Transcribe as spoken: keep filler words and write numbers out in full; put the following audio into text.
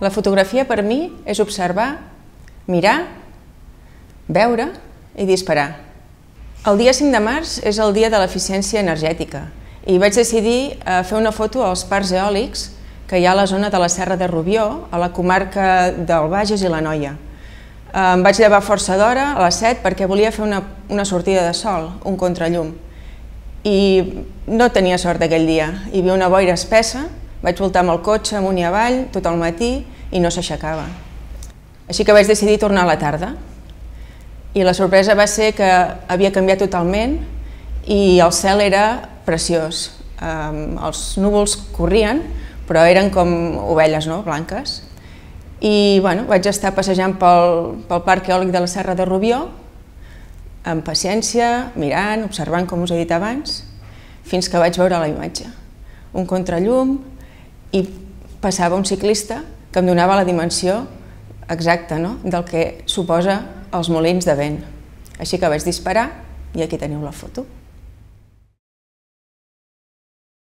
La fotografia per mi és observar, mirar, veure i disparar. El dia cinc de març és el dia de l'eficiència energètica i vaig decidir fer una foto als parcs eòlics que hi ha a la zona de la Serra de Rubió, a la comarca del Bages i l'Anoia. Em vaig llevar força d'hora, a les set, perquè volia fer una, una sortida de sol, un contrallum. I no tenia sort aquell dia. Hi havia una boira espessa, vaig voltar amb el cotxe amunt i avall tot el matí i no s'aixecava. Així que vaig decidir tornar a la tarda. I la sorpresa va ser que havia canviat totalment i el cel era preciós. Els núvols corrien, però eren com ovelles, no?, blanques. I bueno, vaig estar passejant pel, pel parc eòlic de la Serra de Rubió, amb paciència, mirant, observant, com us he dit abans, fins que vaig veure la imatge. Un contrallum i passava un ciclista que em donava la dimensió exacta, no?, del que suposa els molins de vent. Així que vaig disparar i aquí teniu la foto.